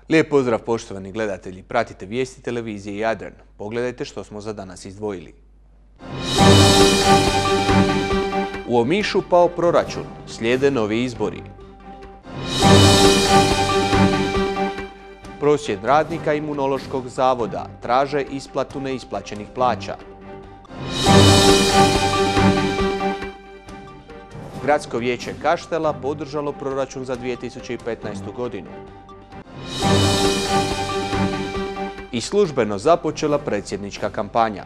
Lijep pozdrav poštovani gledatelji, pratite vijesti televizije Jadran. Pogledajte što smo za danas izdvojili. U Omišu pao proračun, slijede novi izbori. Prosvjed radnika Imunološkog zavoda traže isplatu neisplaćenih plaća. Gradsko vijeće Kaštela podržalo proračun za 2015. godinu. I službeno započela predsjednička kampanja.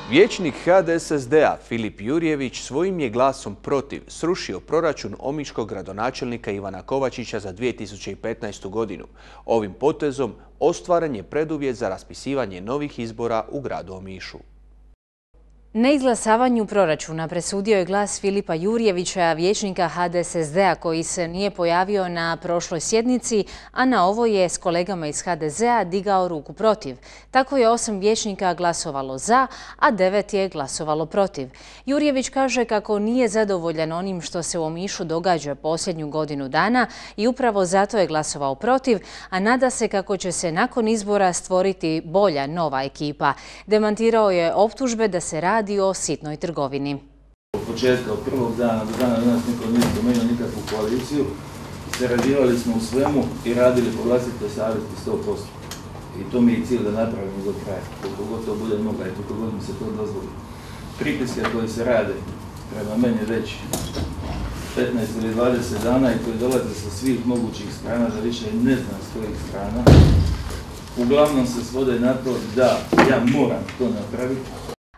Vijećnik HDSSD-a Filip Jurjević svojim je glasom protiv srušio proračun omiškog gradonačelnika Ivana Kovačića za 2015. godinu. Ovim potezom ostvaren je preduvjet za raspisivanje novih izbora u gradu Omišu. Neizglasavanju proračuna presudio je glas Filipa Jurjevića, vijećnika HDSSD-a koji se nije pojavio na prošloj sjednici, a na ovo je s kolegama iz HDZ-a digao ruku protiv. Tako je 8 vijećnika glasovalo za, a 9 je glasovalo protiv. Jurjević kaže kako nije zadovoljan onim što se u Omišu događa posljednju godinu dana i upravo zato je glasovao protiv, a nada se kako će se nakon izbora stvoriti bolja nova ekipa. Demantirao je optužbe da se radi o sitnoj trgovini. Od početka, od prvog dana do dana danas niko nije spomenuo nikakvu koaliciju. Sarađivali smo u svemu i radili po vlastitoj savjesti 100%. I to mi je cilj da napravimo do kraja. Koliko god to bude mogla i koliko god mi se to dozvoli. Pritiske koji se rade prema meni već 15 ili 20 dana i koji dolaze sa svih mogućih strana, da više ne znam s kojih strana, uglavnom se svode na to da ja moram to napraviti.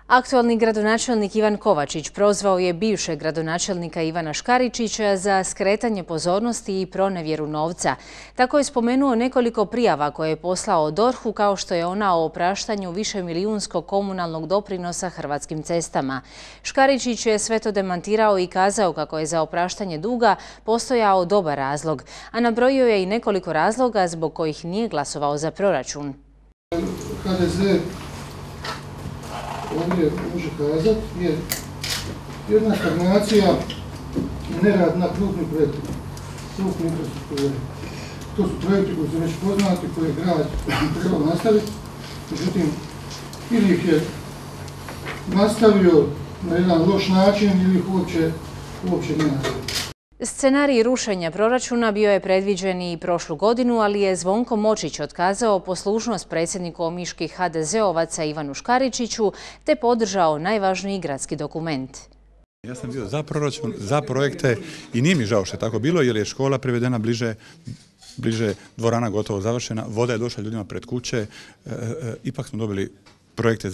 Aktualni gradonačelnik Ivan Kovačić prozvao je bivšeg gradonačelnika Ivana Škaričića za skretanje pozornosti i pronevjeru novca. Tako je spomenuo nekoliko prijava koje je poslao DORH-u, kao što je ona o opraštanju višemilijunskog komunalnog doprinosa Hrvatskim cestama. Škaričić je sve to demantirao i kazao kako je za opraštanje duga postojao dobar razlog, a nabrojio je i nekoliko razloga zbog kojih nije glasovao za proračun. HDZ ovdje može kazati je jedna stagnacija i nerad na krupnim projektima, krupne infrastrukture. To su projekti koji su već poznati, koje je grad trebao nastaviti, međutim, ili ih je nastavio na jedan loš način ili ih uopće ne nastavio. Scenarij rušenja proračuna bio je predviđen i prošlu godinu, ali je Zvonko Močić otkazao poslušnost predsjedniku omiških HDZ-ovaca Ivanu Škaričiću te podržao najvažniji gradski dokument. Ja sam bio za proračun, za projekte i nije mi žao što je tako bilo jer je škola privedena bliže, dvorana gotovo završena, voda je došla ljudima pred kuće, ipak smo dobili projekte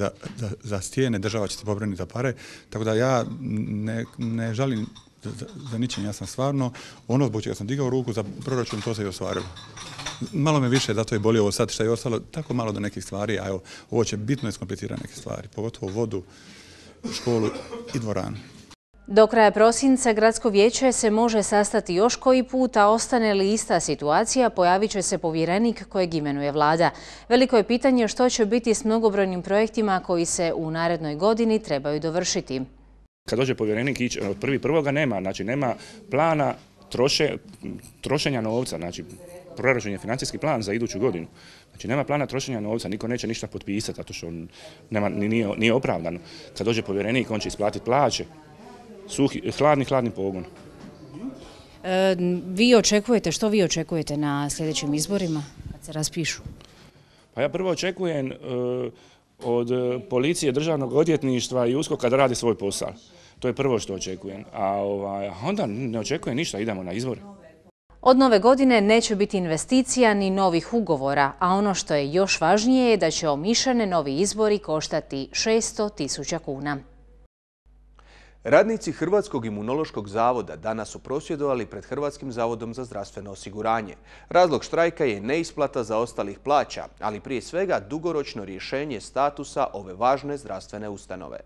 za stijene, država će se pobrinuti za pare, tako da ja ne žalim za ničim, ja sam stvarno, ono zbog čega sam digao ruku za proračun, to se i ostvarilo. Malo me više, zato je bolje ovo sad što je ostalo, tako malo do nekih stvari, a evo, ovo će bitno iskomplicirati neke stvari, pogotovo vodu, školu i dvoranu. Do kraja prosinca Gradsko vijeće se može sastati još koji put, a ostane li ista situacija, pojavit će se povjerenik kojeg imenuje vlada. Veliko je pitanje što će biti s mnogobrojnim projektima koji se u narednoj godini trebaju dovršiti. Kad dođe povjerenik ići od 1.1. nema, znači nema plana trošenja novca, znači proračun je financijski plan za iduću godinu. Znači nema plana trošenja novca, niko neće ništa potpisati, zato što nije opravdano. Kad dođe povjerenik, on će isplatiti plaće, hladni pogon. Što vi očekujete na sljedećim izborima kad se raspišu? Pa ja prvo očekujem od policije, državnog odvjetništva i USKOK-a da radi svoj posao. To je prvo što očekujem. A onda ne očekujem ništa, idemo na izbore. Od nove godine neće biti investicija ni novih ugovora, a ono što je još važnije je da će Omišane novi izbori koštati 600.000 kuna. Radnici Hrvatskog imunološkog zavoda danas su prosvjedovali pred Hrvatskim zavodom za zdravstveno osiguranje. Razlog štrajka je neisplata zaostalih plaća, ali prije svega dugoročno rješenje statusa ove važne zdravstvene ustanove.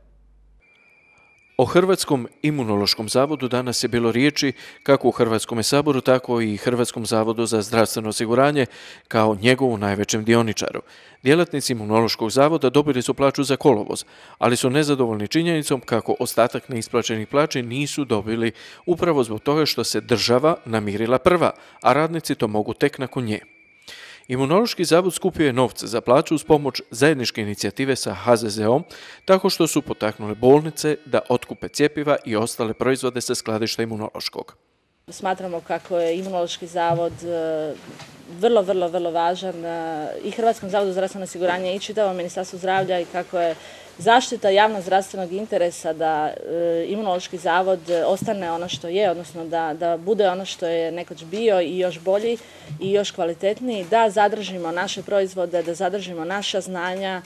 O Hrvatskom imunološkom zavodu danas je bilo riječi kako u Hrvatskom saboru, tako i Hrvatskom zavodu za zdravstveno osiguranje kao njegovu najvećem dioničaru. Djelatnici imunološkog zavoda dobili su plaću za kolovoz, ali su nezadovoljni činjenicom kako ostatak neisplaćenih plaća nisu dobili upravo zbog toga što se država namirila prva, a radnici to mogu tek nakon nje. Imunološki zavod skupio je novce za plaću uz pomoć zajedničke inicijative sa HZZO-om, tako što su potaknule bolnice da otkupe cjepiva i ostale proizvode sa skladišta imunološkog. Smatramo kako je Imunološki zavod vrlo važan i Hrvatskom zavodu za zdravstveno osiguranje i čitavom Ministarstvu zdravlja i kako je zaštita javnog zdravstvenog interesa da Imunološki zavod ostane ono što je, odnosno da bude ono što je nekoć bio i još bolji i još kvalitetniji, da zadržimo naše proizvode, da zadržimo naša znanja,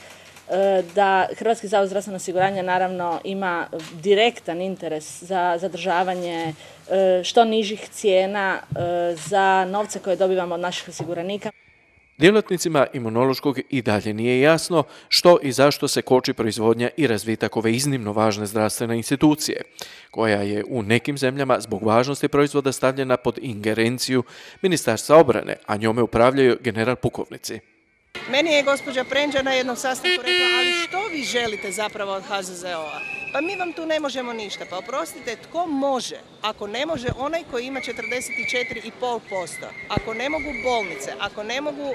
da Hrvatski zavod za zdravstveno osiguranje naravno ima direktan interes za zadržavanje što nižih cijena za novce koje dobivamo od naših osiguranika. Djelatnicima imunološkog i dalje nije jasno što i zašto se koči proizvodnja i razvitak ove iznimno važne zdravstvene institucije, koja je u nekim zemljama zbog važnosti proizvoda stavljena pod ingerenciju Ministarstva obrane, a njome upravljaju general pukovnici. Meni je gospođa Prenđa na jednom sastanku rekla, ali što vi želite zapravo od HZZO-a? Pa mi vam tu ne možemo ništa. Pa oprostite, tko može? Ako ne može onaj koji ima 44,5%, ako ne mogu bolnice, ako ne mogu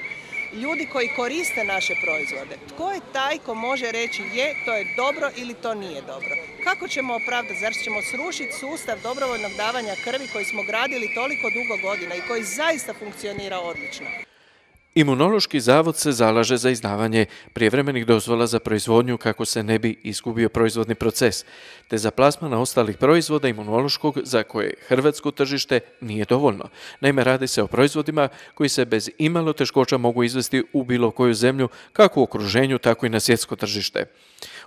ljudi koji koriste naše proizvode, tko je taj ko može reći je, to je dobro ili to nije dobro? Kako ćemo opravdati? Zar ćemo srušiti sustav dobrovoljnog davanja krvi koji smo gradili toliko dugo godina i koji zaista funkcionira odlično? Imunološki zavod se zalaže za izdavanje prijevremenih dozvola za proizvodnju kako se ne bi izgubio proizvodni proces, te za plasman ostalih proizvoda imunološkog za koje hrvatsko tržište nije dovoljno. Naime, radi se o proizvodima koji se bez imalo teškoća mogu izvesti u bilo koju zemlju, kako u okruženju, tako i na svjetsko tržište.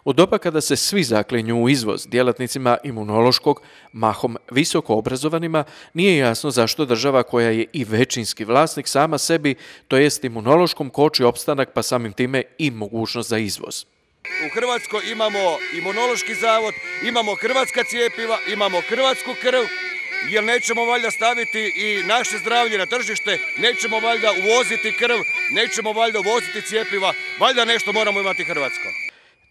U doba kada se svi zaklinju u izvoz, djelatnicima imunološkog, mahom visoko obrazovanima, nije jasno zašto država koja je i većinski vlasnik sama sebi, to jest imunološkom, koči opstanak pa samim time i mogućnost za izvoz. U Hrvatskoj imamo imunološki zavod, imamo hrvatska cijepiva, imamo hrvatsku krv, jer nećemo valjda staviti i naše zdravlje na tržište, nećemo valjda uvoziti krv, nećemo valjda uvoziti cijepiva, valjda nešto moramo imati hrvatsko.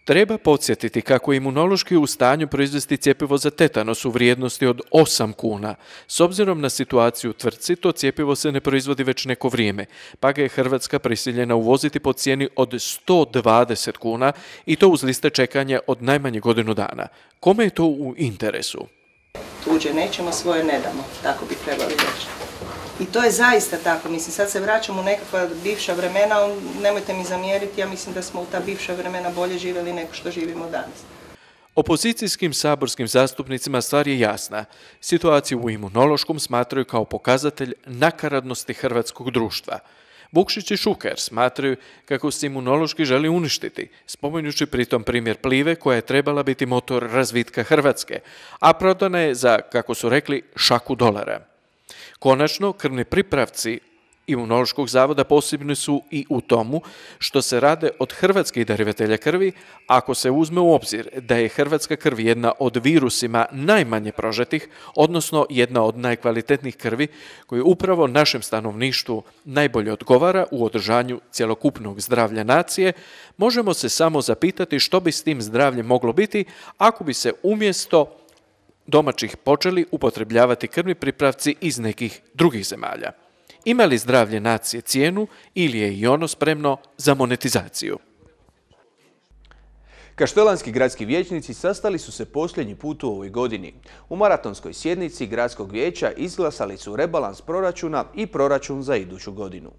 Treba podsjetiti kako je imunološki u stanju proizvesti cjepivo za tetanos u vrijednosti od 8 kuna. S obzirom na situaciju u tvrtci, to cjepivo se ne proizvodi već neko vrijeme, pa ga je Hrvatska prisiljena uvoziti po cijeni od 120 kuna i to uz liste čekanja od najmanje godinu dana. Kome je to u interesu? Tuđe nećemo, svoje ne damo, tako bi trebali reći. I to je zaista tako, mislim, sad se vraćamo u nekakva bivša vremena, nemojte mi zamjeriti, ja mislim da smo u ta bivša vremena bolje živjeli nego što živimo danas. Opozicijskim saborskim zastupnicima stvar je jasna. Situaciju u imunološkom smatraju kao pokazatelj nakaradnosti hrvatskog društva. Vukšić i Šuker smatraju kako se imunološki želi uništiti, spominjući pritom primjer Plive koja je trebala biti motor razvitka Hrvatske, a prodana je za, kako su rekli, šaku dolara. Konačno, krvni pripravci Imunološkog zavoda posebni su i u tomu što se rade od hrvatskih darivatelja krvi, ako se uzme u obzir da je hrvatska krv jedna od virusima najmanje prožetih, odnosno jedna od najkvalitetnijih krvi, koji upravo našem stanovništvu najbolje odgovara u održanju cjelokupnog zdravlja nacije, možemo se samo zapitati što bi s tim zdravljem moglo biti ako bi se umjesto domaćih počeli upotrebljavati krvni pripravci iz nekih drugih zemalja. Ima li zdravlje nacije cijenu ili je i ono spremno za monetizaciju? Kaštelanski gradski vijećnici sastali su se posljednji put u ovoj godini. U maratonskoj sjednici gradskog vijeća izglasali su rebalans proračuna i proračun za iduću godinu.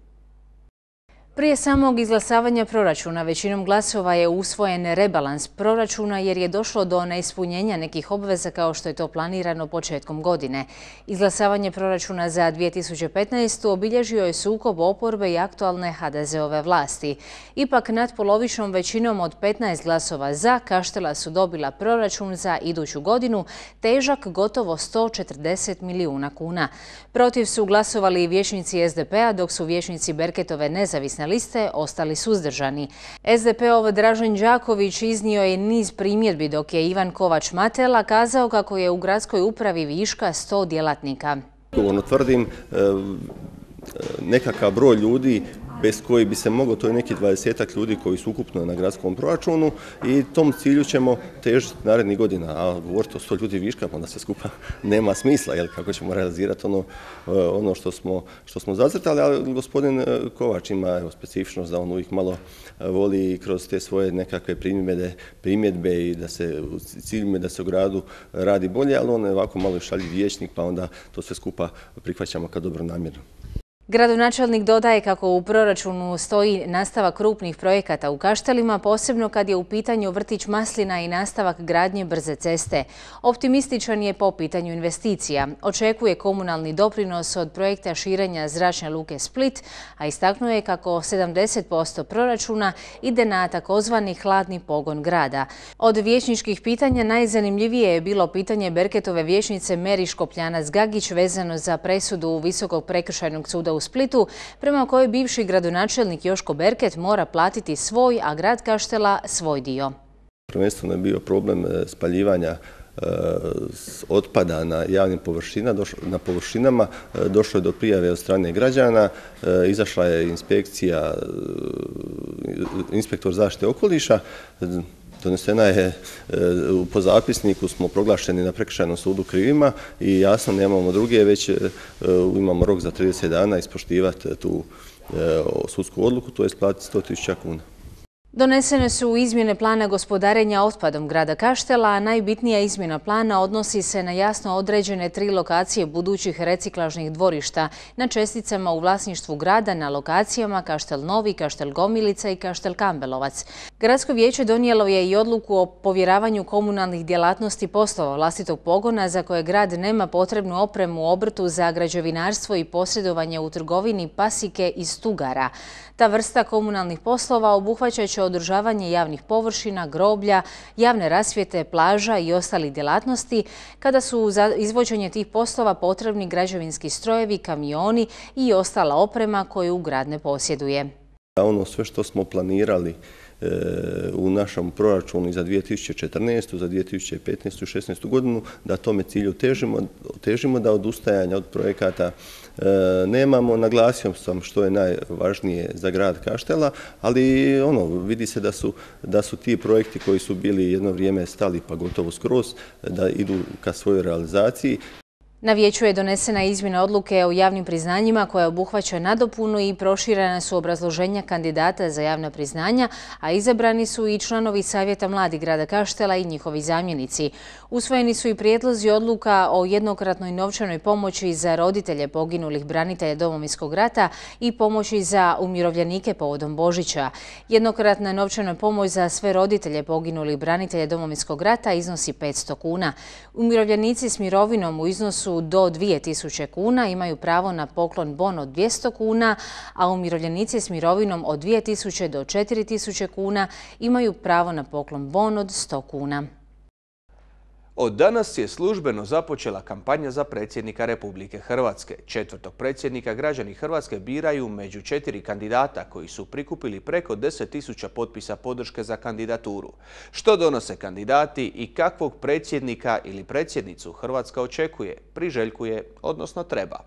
Prije samog izglasavanja proračuna većinom glasova je usvojen rebalans proračuna jer je došlo do neispunjenja nekih obveza kao što je to planirano početkom godine. Izglasavanje proračuna za 2015. obilježio je sukob oporbe i aktualne HDZ-ove vlasti. Ipak natpolovičnom većinom od 15 glasova za Kaštela su dobila proračun za iduću godinu težak gotovo 140 milijuna kuna. Protiv su glasovali i vijećnici SDP-a dok su vijećnici Berketove nezavisne nezavisne liste ostali suzdržani. SDP-ov Dražen Đaković iznio je niz primjedbi, dok je Ivan Kovač-Matela kazao kako je u gradskoj upravi viška 100 djelatnika. Odgovorno tvrdim, nekakav broj ljudi bez koji bi se moglo, to je neki 20-ak ljudi koji su ukupno na gradskom proračunu i tom cilju ćemo težiti narednih godina. A govoriti o 100 ljudi viška, onda sve skupa nema smisla, jer kako ćemo realizirati ono što smo zacrtali, ali gospodin Kovač ima specifičnost da on uvijek malo voli kroz te svoje nekakve primjedbe i da se u ciljima da se u gradu radi bolje, ali on je ovako malo šaljiv vijećnik, pa onda to sve skupa prihvaćamo kao dobronamjerno. Gradonačelnik dodaje kako u proračunu stoji nastavak krupnih projekata u Kaštelima, posebno kad je u pitanju vrtić Maslina i nastavak gradnje brze ceste. Optimističan je po pitanju investicija. Očekuje komunalni doprinos od projekta širenja zračne luke Split, a istaknuo je kako 70% proračuna ide na takozvani hladni pogon grada. Od vijećničkih pitanja najzanimljivije je bilo pitanje Berketove vijećnice Meri Škopljanac-Gagić vezano za presudu Visokog prekršajnog suda u Splitu, prema kojoj bivši gradonačelnik Joško Berket mora platiti svoj, a grad Kaštela svoj dio. Prvenstveno je bio problem spaljivanja otpada na javnim površinama. Došlo je do prijave od strane građana, izašla je inspektor zaštite okoliša, donesena je, po zapisniku smo proglašeni na prekršajnom sudu krivima i jasno nemamo druge, već imamo rok za 30 dana ispoštivati tu sudsku odluku, to je isplatiti 100.000 kuna. Donesene su izmjene plana gospodarenja otpadom grada Kaštela, a najbitnija izmjena plana odnosi se na jasno određene 3 lokacije budućih reciklažnih dvorišta na česticama u vlasništvu grada na lokacijama Kaštel Novi, Kaštel Gomilica i Kaštel Kambelovac. Gradsko vijeće donijelo je i odluku o povjeravanju komunalnih djelatnosti poslova vlastitog pogona za koje grad nema potrebnu opremu u obrtu za građevinarstvo i posredovanje u trgovini Pasike i Stugara. Ta vrsta komunalnih poslova obuhvaćat će održavanje javnih površina, groblja, javne rasvjete, plaža i ostalih djelatnosti, kada su za izvođenje tih poslova potrebni građevinski strojevi, kamioni i ostala oprema koju grad ne posjeduje. Ono sve što smo planirali u našem proračunu za 2014. za 2015. i 2016. godinu, da tome cilju težimo, da odustajanja od projekata nemamo. Naglasio sam što je najvažnije za grad Kaštela, ali vidi se da su ti projekti koji su bili jedno vrijeme stali, pa gotovo skroz, da idu ka svojoj realizaciji. Na vijeću je donesena izmjena odluke o javnim priznanjima koja obuhvaća nadopunu i proširena su obrazloženja kandidata za javna priznanja, a izabrani su i članovi Savjeta mladih grada Kaštela i njihovi zamjenici. Usvojeni su i prijedlozi odluka o jednokratnoj novčanoj pomoći za roditelje poginulih branitelja Domovinskog rata i pomoći za umirovljenike povodom Božića. Jednokratna novčana pomoć za sve roditelje poginulih branitelja Domovinskog rata iznosi 500 kuna. Umirovljenici s mirovinom u iznosu do 2000 kuna imaju pravo na poklon bon od 200 kuna, a umirovljenici s mirovinom od 2000 do 4000 kuna imaju pravo na poklon bon od 100 kuna. Od danas je službeno započela kampanja za predsjednika Republike Hrvatske. 4. predsjednika građani Hrvatske biraju među 4 kandidata koji su prikupili preko 10.000 potpisa podrške za kandidaturu. Što donose kandidati i kakvog predsjednika ili predsjednicu Hrvatska očekuje, priželjkuje, odnosno treba?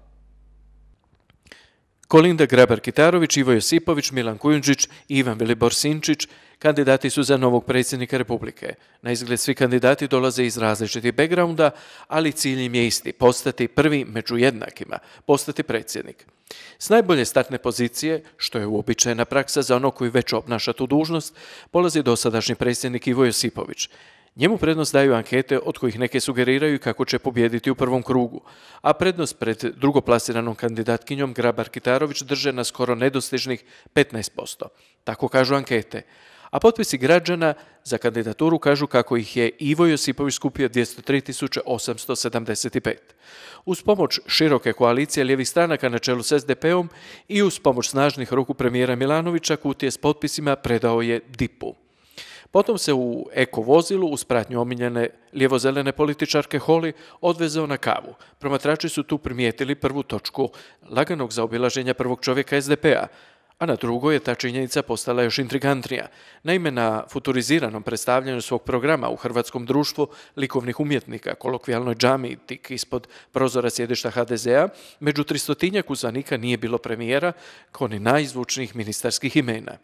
Kolinda Grabar-Kitarović, Ivo Josipović, Milan Kujundžić i Ivan Vilibor Sinčić kandidati su za novog predsjednika Republike. Na izgled svi kandidati dolaze iz različitih backgrounda, ali cilj im je isti – postati prvi među jednakima, postati predsjednik. S najbolje startne pozicije, što je uobičajena praksa za ono koji već obnaša tu dužnost, polazi dosadašnji predsjednik Ivo Josipović. Njemu prednost daju ankete od kojih neke sugeriraju kako će pobijediti u prvom krugu, a prednost pred drugoplasiranom kandidatkinjom Grabar-Kitarović drže na skoro nedostižnih 15%. Tako kažu ankete. A potpisi građana za kandidaturu kažu kako ih je Ivo Josipović skupio 203.875. Uz pomoć široke koalicije lijevih stranaka na čelu s SDP-om i uz pomoć snažnih ruku premijera Milanovića kutije s potpisima predao je DIP-u. Potom se u eko vozilu uz pratnju omiljene lijevozelene političarke Holy odvezao na kavu. Promatrači su tu primijetili prvu točku laganog zaobilaženja prvog čovjeka SDP-a, A na drugoj je ta činjenica postala još intrigantnija. Naime, na futuriziranom predstavljanju svog programa u Hrvatskom društvu likovnih umjetnika, kolokvijalnoj džamiji tik ispod prozora sjedišta HDZ-a, među 300-tinjak uzvanika nije bilo premijera kao ni najzvučnijih ministarskih imena.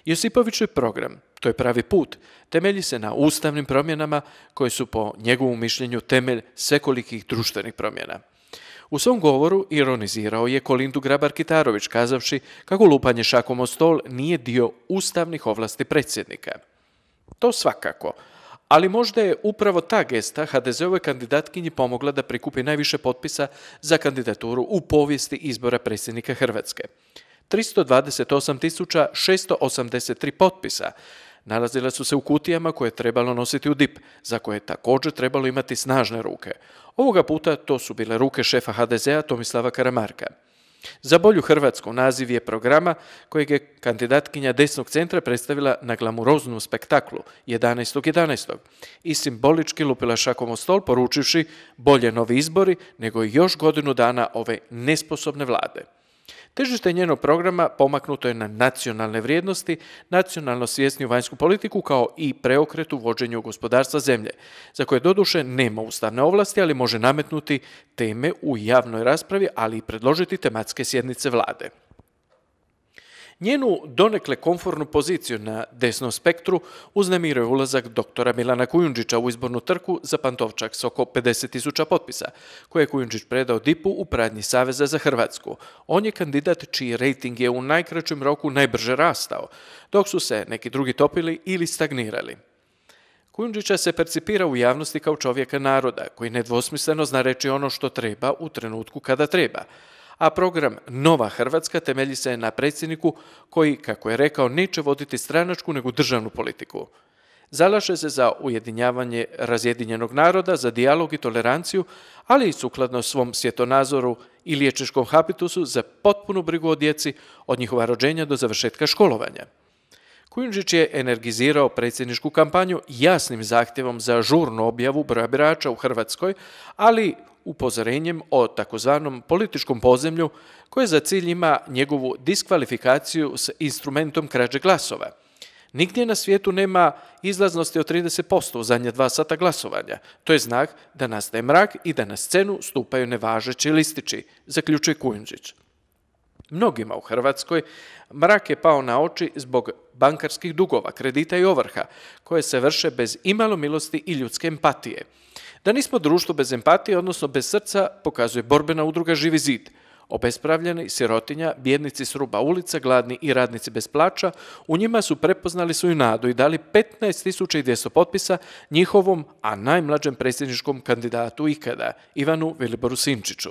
Josipovićev program, to je pravi put, temelji se na ustavnim promjenama koje su po njegovom mišljenju temelj svekolikih društvenih promjena. U svom govoru ironizirao je Kolindu Grabar-Kitarović kazavši kako lupanje šakom o stol nije dio ustavnih ovlasti predsjednika. To svakako, ali možda je upravo ta gesta HDZ-ove kandidatkinji pomogla da prikupi najviše potpisa za kandidaturu u povijesti izbora predsjednika Hrvatske. 328.683 potpisa nalazila su se u kutijama koje je trebalo nositi u DIP, za koje je također trebalo imati snažne ruke. Ovoga puta to su bile ruke šefa HDZ-a Tomislava Karamarka. Za bolju Hrvatsku naziv je programa kojeg je kandidatkinja desnog centra predstavila na glamuroznom spektaklu 11.11. i simbolički lupila šakom o stol poručivši bolje novi izbori nego još godinu dana ove nesposobne vlade. Težište njenog programa pomaknuto je na nacionalne vrijednosti, nacionalno svjesniju vanjsku politiku kao i preokret u vođenju gospodarstva zemlje, za koje doduše nema ustavne ovlasti, ali može nametnuti teme u javnoj raspravi, ali i predložiti tematske sjednice vlade. Njenu donekle komfortnu poziciju na desnom spektru uznemiruje ulazak doktora Milana Kujundžića u izbornu trku za Pantovčak s oko 50.000 potpisa, koje je Kujundžić predao DIP-u u pradnji Saveza za Hrvatsku. On je kandidat čiji rejting je u najkraćem roku najbrže rastao, dok su se neki drugi topili ili stagnirali. Kujundžića se percipira u javnosti kao čovjeka naroda, koji nedvosmisleno zna reći ono što treba u trenutku kada treba, a program Nova Hrvatska temelji se na predsjedniku koji, kako je rekao, neće voditi stranačku nego državnu politiku. Zalaže se za ujedinjavanje razjedinjenog naroda, za dijalog i toleranciju, ali i sukladno svom svjetonazoru i liječničkom habitusu za potpunu brigu o djeci od njihova rođenja do završetka školovanja. Kujundžić je energizirao predsjedničku kampanju jasnim zahtjevom za žurnu objavu broja birača u Hrvatskoj, ali upozorenjem o takozvanom političkom podzemlju koje za cilj ima njegovu diskvalifikaciju s instrumentom krađe glasova. Nigdje na svijetu nema izlaznosti od 30% u zadnje 2 sata glasovanja. To je znak da nastaje mrak i da na scenu stupaju nevažeći listići, zaključuje Kujundžić. Mnogima u Hrvatskoj mrak je pao na oči zbog bankarskih dugova, kredita i ovrha, koje se vrše bez imalo milosti i ljudske empatije. Da nismo društvo bez empatije, odnosno bez srca, pokazuje borbena udruga Živi zid. Obespravljeni, sirotinja, bijednici s ruba ulica, gladni i radnici bez plaća, u njima su prepoznali svoju nadu i dali 15.200 potpisa njihovom, a najmlađem predsjedničkom kandidatu ikada, Ivanu Viliboru Sinčiću.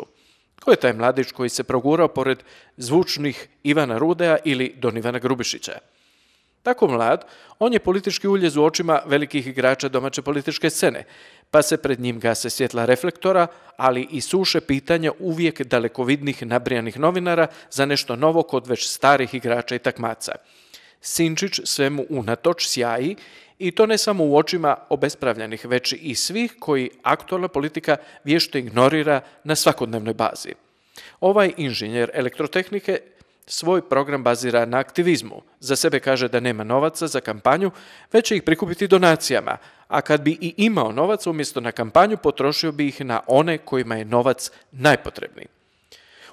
Ko je taj mladić koji se progurao pored zvučnih Ivana Rudeja ili Don Ivana Grubišića? Tako mlad, on je politički uljez u očima velikih igrača domaće političke scene, pa se pred njim gase svjetla reflektora, ali i suše pitanja uvijek dalekovidnih nabrijanih novinara za nešto novo kod već starih igrača i takmaca. Sinčić svemu unatoč sjaji i to ne samo u očima obespravljenih, već i svih koji aktualna politika vješto ignorira na svakodnevnoj bazi. Ovaj inženjer elektrotehnike svoj program bazira na aktivizmu. Za sebe kaže da nema novaca za kampanju, već će ih prikupiti donacijama, a kad bi i imao novac, umjesto na kampanju potrošio bi ih na one kojima je novac najpotrebniji.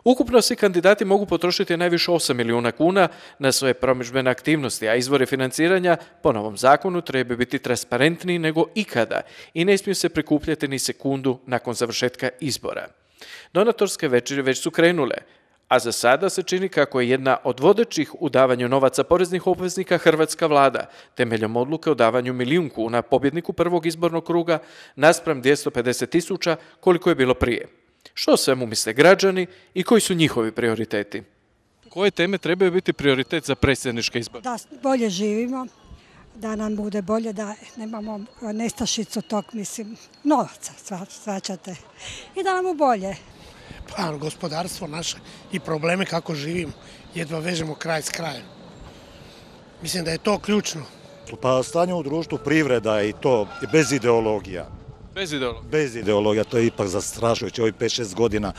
Ukupno svi kandidati mogu potrošiti najviše 8 milijuna kuna na svoje promidžbene aktivnosti, a izvori financiranja po novom zakonu trebaju biti transparentniji nego ikada i ne smiju se prikupljati ni sekundu nakon završetka izbora. Donatorske večeri već su krenule, a za sada se čini kako je jedna od vodećih u davanju novaca poreznih obveznika hrvatska vlada, temeljem odluke o davanju 1 milijun kuna pobjedniku prvog izbornog kruga naspram 250.000 koliko je bilo prije. Što o svemu misle građani i koji su njihovi prioriteti? Koje teme trebaju biti prioritet za predsjedničke izbore? Da bolje živimo, da nam bude bolje, da nemamo nestašicu tog, novaca, svačate, i da nam bude bolje. Pa gospodarstvo naše i probleme kako živimo, jedva vežemo kraj s krajem. Mislim da je to ključno. Pa stanje u društvu, privreda i to bez ideologija. Bez ideologija? Bez ideologija, to je ipak zastrašujuće. Ovih 5-6 godina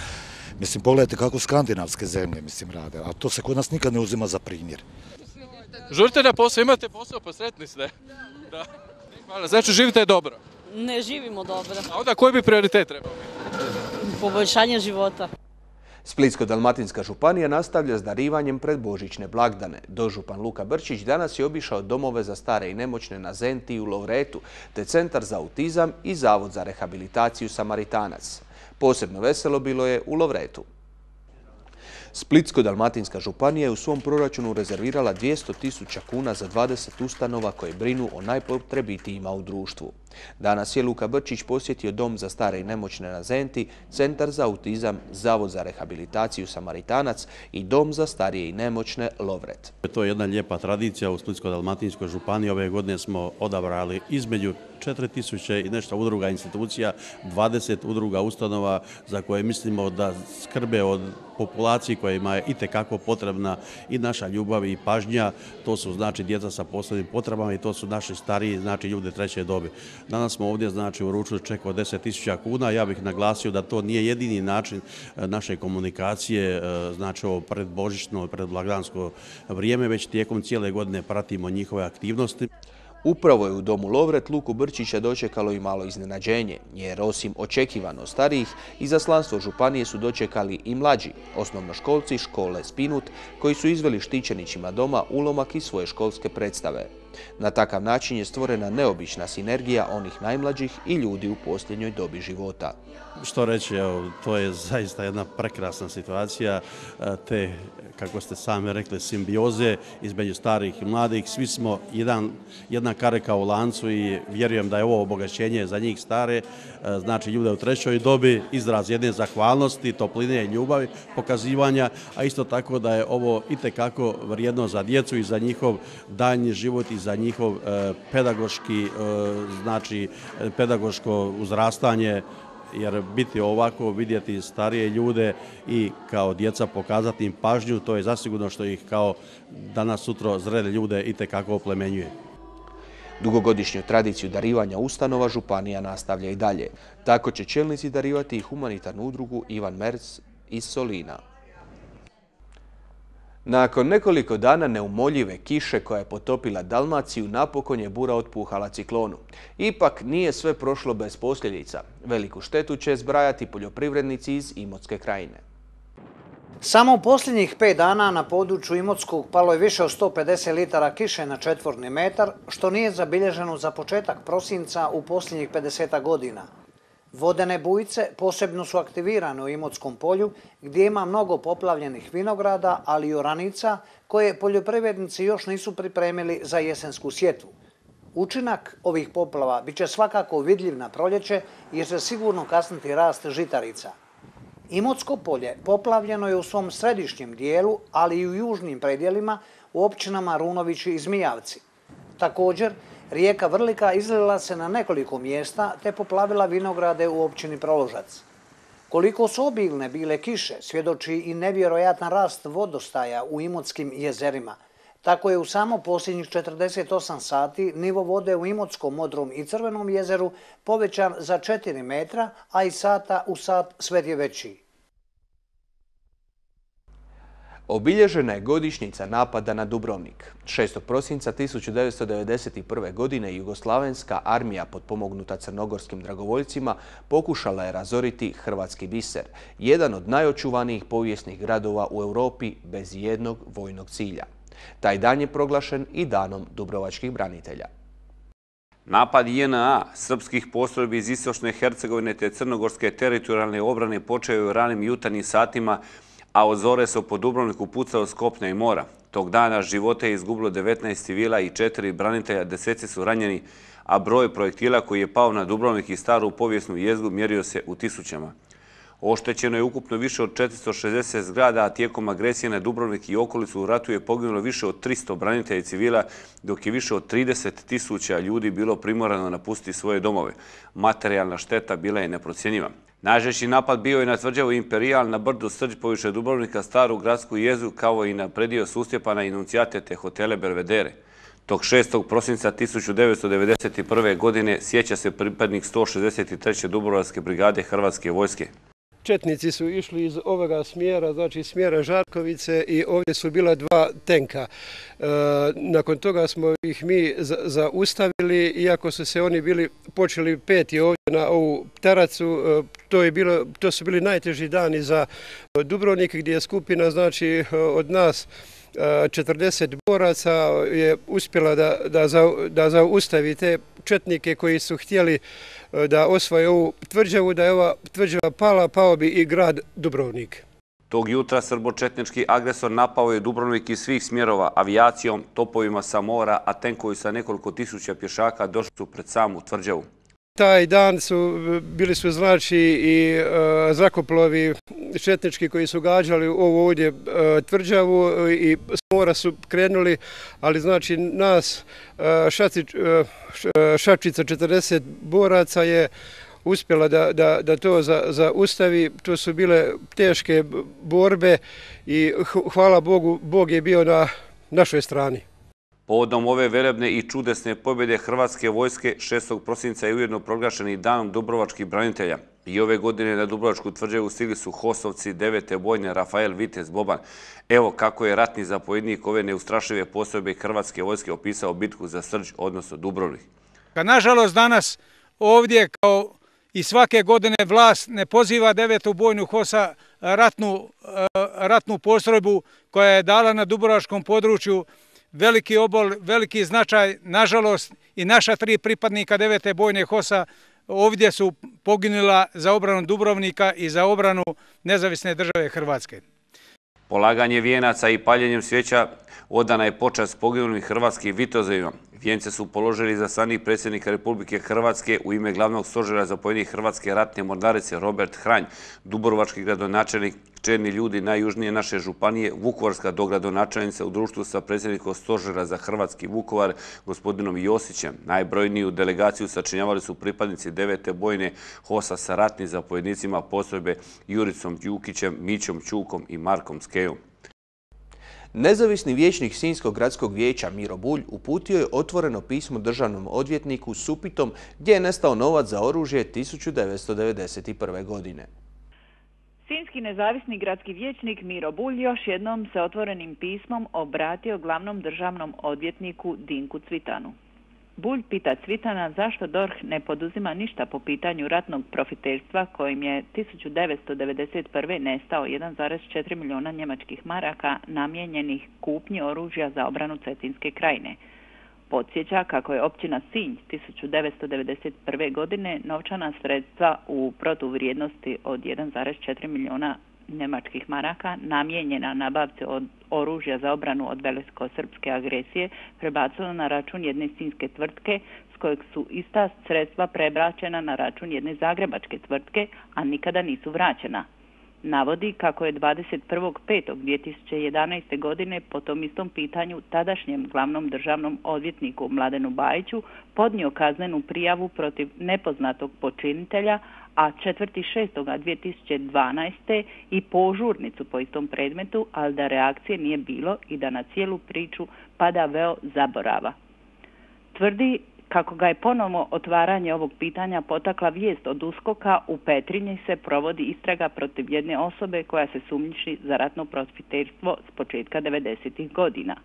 Mislim, pogledajte kako skandinavske zemlje, mislim, rade, a to se kod nas nikad ne uzima za primjer. Žurite na posao, imate posao, pa sretni ste. Da. Hvala, znači živite dobro? Ne živimo dobro. A onda koji bi prioritet trebao? Poboljšanje života. Splitsko-dalmatinska županija nastavlja s darivanjem pred božićne blagdane. Dožupan Luka Brčić danas je obišao domove za stare i nemoćne na Zenti i u Lovretu, te Centar za autizam i Zavod za rehabilitaciju Samaritanac. Posebno veselo bilo je u Lovretu. Splitsko-dalmatinska županija je u svom proračunu rezervirala 200.000 kuna za 20 ustanova koje brinu o najpotrebitijima u društvu. Danas je Luka Brčić posjetio Dom za stare i nemoćne na Zenti, Centar za autizam, Zavod za rehabilitaciju Samaritanac i Dom za starije i nemoćne Lovret. To je jedna lijepa tradicija u Splitsko-dalmatinskoj županiji. Ove godine smo odabrali između 4.000 i nešto udruga, institucija, 20 udruga, ustanova za koje mislimo da skrbe od populaciji kojima je itekako potrebna i naša ljubav i pažnja. To su znači djeca sa posebnim potrebama i to su naši stariji, znači ljudi treće dobi. Danas smo ovdje znači uručili ček od 10.000 kuna. Ja bih naglasio da to nije jedini način naše komunikacije, znači ovo predbožićno, predblagdansko vrijeme, već tijekom cijele godine pratimo njihove aktivnosti. Upravo je u Domu Lovret Luku Brčića dočekalo i malo iznenađenje, jer osim očekivano starijih, izaslanstvo županije su dočekali i mlađi, osnovnoškolci škole Spinut, koji su izveli štićenićima doma ulomak iz svoje školske predstave. Na takav način je stvorena neobična sinergija onih najmlađih i ljudi u posljednjoj dobi života. Što reći, evo, to je zaista jedna prekrasna situacija, te, kako ste sami rekli, simbioze između starih i mladih. Svi smo jedna karika u lancu i vjerujem da je ovo obogaćenje za njih stare, znači ljude u trećoj dobi, izraz jedne zahvalnosti, topline i ljubavi, pokazivanja, a isto tako da je ovo itekako vrijedno za djecu i za njihov daljnji život i za njihov pedagoški, znači pedagoško uzrastanje, jer biti ovako, vidjeti starije ljude i kao djeca pokazati im pažnju, to je zasigurno što ih kao danas sutra zrele ljude itekako oplemenjuje. Dugogodišnju tradiciju darivanja ustanova županija nastavlja i dalje. Tako će čelnici darivati i humanitarnu udrugu Ivan Merz iz Solina. Nakon nekoliko dana neumoljive kiše koja je potopila Dalmaciju, napokon je bura otpuhala ciklonu. Ipak nije sve prošlo bez posljedica. Veliku štetu će zbrajati poljoprivrednici iz Imotske krajine. Samo u posljednjih 5 dana na području Imotskog palo je više od 150 litara kiše na četvorni metar, što nije zabilježeno za početak prosinca u posljednjih 50 godina. Vodene bujice posebno su aktivirane u Imotskom polju, gdje ima mnogo poplavljenih vinograda, ali i oranica koje poljoprivrednici još nisu pripremili za jesensku sjetvu. Učinak ovih poplava bit će svakako vidljiv na proljeće jer će sigurno kasniti rast žitarica. Imotsko polje poplavljeno je u svom središnjem dijelu, ali i u južnim predjelima u općinama Runovići i Zmijavci. Također, rijeka Vrlika izlila se na nekoliko mjesta te poplavila vinograde u općini Proložac. Koliko su obilne bile kiše, svjedoči i nevjerojatan rast vodostaja u Imotskim jezerima. Tako je u samo posljednjih 48 sati nivo vode u Imotskom, Modrom i Crvenom jezeru povećan za 4 metra, a iz sata u sat sve je veći. Obilježena je godišnjica napada na Dubrovnik. 6. prosinca 1991. godine Jugoslavenska armija potpomognuta crnogorskim dragovoljcima pokušala je razoriti hrvatski biser, jedan od najočuvanijih povijesnih gradova u Europi bez jednog vojnog cilja. Taj dan je proglašen i danom dubrovačkih branitelja. Napad JNA, srpskih postrojbi iz Istočne Hercegovine te crnogorske teritorijalne obrane počeo je u ranim jutarnjim satima, a od zore se po Dubrovniku pucao s kopna i mora. Tog dana živote je izgubilo 19 civila i 4 branitelja, deseci su ranjeni, a broj projektila koji je pao na Dubrovnik i staru povijesnu jezgru mjerio se u tisućama. Oštećeno je ukupno više od 460 zgrada, a tijekom agresije na Dubrovnik i okolicu u ratu je poginulo više od 300 branitelja i civila, dok je više od 30.000 ljudi bilo primorano napustiti svoje domove. Materijalna šteta bila je neprocjenjiva. Najžešći napad bio je na tvrđavu Imperijal na brdu Srđ poviše Dubrovnika, staru gradsku jezgru, kao i na predio Sustjepana i Nuncijate te hotele Belvedere. Tog 6. prosinca 1991. godine sjeća se pripadnik 163. Dubrovačke brigade Hrvatske vojske. četnici su išli iz ovoga smjera, znači smjera Žarkovice i ovdje su bila 2 tenka. Nakon toga smo ih mi zaustavili, iako su se oni bili počeli peti ovdje na ovu teracu. To su bili najteži dani za Dubrovnik, gdje je skupina, znači od nas 40 boraca je uspjela da zaustavi te četnike koji su htjeli da osvoje ovu tvrđavu. Da je ova tvrđava pala, pao bi i grad Dubrovnik. Tog jutra srbočetnički agresor napao je Dubrovnik iz svih smjerova avijacijom, topovima sa mora, a tenkovi sa nekoliko tisuća pješaka došli su pred samu tvrđavu. Taj dan bili su znači i zrakoplovi četnički koji su gađali ovu ovdje tvrđavu i s mora su krenuli, ali znači nas šačica 40 boraca je uspjela da to zaustavi. To su bile teške borbe i hvala Bogu, Bog je bio na našoj strani. Povodom ove velebne i čudesne pobjede Hrvatske vojske 6. prosinca je ujedno proglašeni danom dubrovačkih branitelja. I ove godine na Dubrovačku tvrđavu stigli su HOS-ovci 9. bojne Rafael Vitez Boban. Evo kako je ratni zapovjednik ove neustrašive postrojbe Hrvatske vojske opisao bitku za Srđ, odnosno Dubrovnik. Nažalost, danas ovdje kao i svake godine vlast ne poziva 9. bojnu HOS-a, ratnu postrojbu koja je dala na dubrovačkom području veliki obol, veliki značaj. Nažalost, i naša 3 pripadnika 9. bojne HOS-a ovdje su poginula za obranu Dubrovnika i za obranu nezavisne države Hrvatske. Polaganje vijenaca i paljenjem svijeća odana je počast poginulim hrvatskim vitezovima. Vijence su položili izaslanik predsjednika Republike Hrvatske u ime glavnog stožera zapovjednika Hrvatske ratne mornarice Robert Hranj, dubrovački gradonačelnik, čelni ljudi najjužnije naše županije, vukovarska dogradonačelnica u društvu sa predsjednikom stožera za Hrvatski Vukovar, gospodinom Josićem. Najbrojniju delegaciju sačinjavali su pripadnici 9. bojne HOS-a sa ratnim zapovjednicima postrojbe Juricom Đukićem, Mićom Ćukom i Markom Skejom. Nezavisni vijećnik Sinjskog gradskog vijeća Miro Bulj uputio je otvoreno pismo državnom odvjetniku s upitom gdje je nestao novac za oružje 1991. godine. Sinjski nezavisni gradski vijećnik Miro Bulj još jednom se otvorenim pismom obratio glavnom državnom odvjetniku Dinku Cvitanu. Bulj pita Cvitana zašto DORH ne poduzima ništa po pitanju ratnog profiterstva kojim je 1991. nestao 1,4 milijuna njemačkih maraka namijenjenih kupnji oružja za obranu Cetinske krajine. Podsjeća kako je općina Sinj 1991. godine novčana sredstva u protuvrijednosti od 1,4 milijuna njemačkih maraka namijenjena nabavci od oružja za obranu od velikosrpske agresije prebacila na račun jedne sinjske tvrtke s kojeg su ista sredstva prebačena na račun jedne zagrebačke tvrtke, a nikada nisu vraćena. Navodi kako je 21.5.2011. godine po tom istom pitanju tadašnjem glavnom državnom odvjetniku Mladenu Bajiću podnio kaznenu prijavu protiv nepoznatog počinitelja, a 4.6.2012. i požurnicu po istom predmetu, ali da reakcije nije bilo i da na cijelu priču pada veo zaborava. Tvrdi kako ga je ponovno otvaranje ovog pitanja potakla vijest od USKOK-a, u Petrinji se provodi istraga protiv jedne osobe koja se sumnjiči za ratno profiterstvo s početka 90. godina.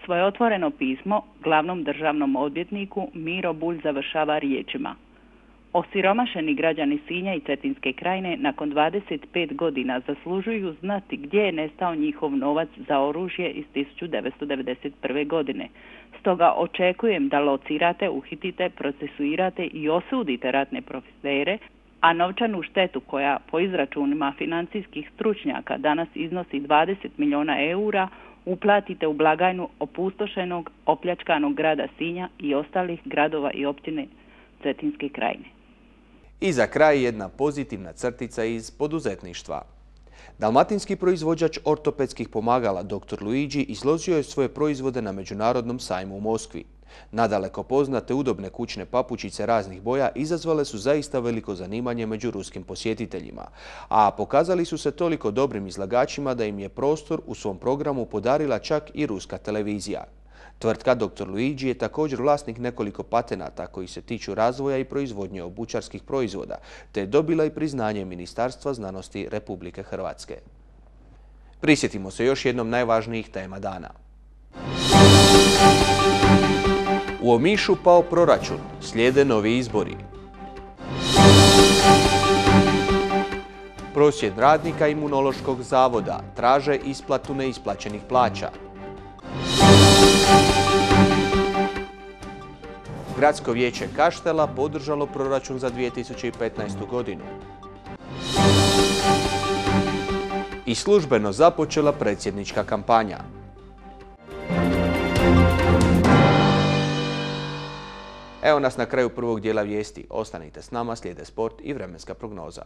Svoje otvoreno pismo glavnom državnom odvjetniku Miro Bulj završava riječima: osiromašeni građani Sinja i Cetinske krajine nakon 25 godina zaslužuju znati gdje je nestao njihov novac za oružje iz 1991. godine. Stoga očekujem da locirate, uhitite, procesuirate i osudite ratne profitere, a novčanu štetu koja po izračunima financijskih stručnjaka danas iznosi 20 milijuna eura uplatite u blagajnu opustošenog, opljačkanog grada Sinja i ostalih gradova i općine Cetinske krajine. I za kraj jedna pozitivna crtica iz poduzetništva. Dalmatinski proizvođač ortopedskih pomagala dr. Luigi izložio je svoje proizvode na Međunarodnom sajmu u Moskvi. Nadaleko poznate udobne kućne papučice raznih boja izazvale su zaista veliko zanimanje među ruskim posjetiteljima, a pokazali su se toliko dobrim izlagačima da im je prostor u svom programu podarila čak i ruska televizija. Tvrtka Dr. Luigi je također vlasnik nekoliko patenata koji se tiču razvoja i proizvodnje obućarskih proizvoda, te je dobila i priznanje Ministarstva znanosti Republike Hrvatske. Prisjetimo se još jednom najvažnijih tema dana. U Omišu pao proračun, slijede novi izbori. Prosvjed radnika Imunološkog zavoda traže isplatu neisplaćenih plaća. Gradsko vijeće Kaštela podržalo proračun za 2015. godinu. I službeno započela predsjednička kampanja. Evo nas na kraju prvog dijela vijesti. Ostanite s nama, slijede sport i vremenska prognoza.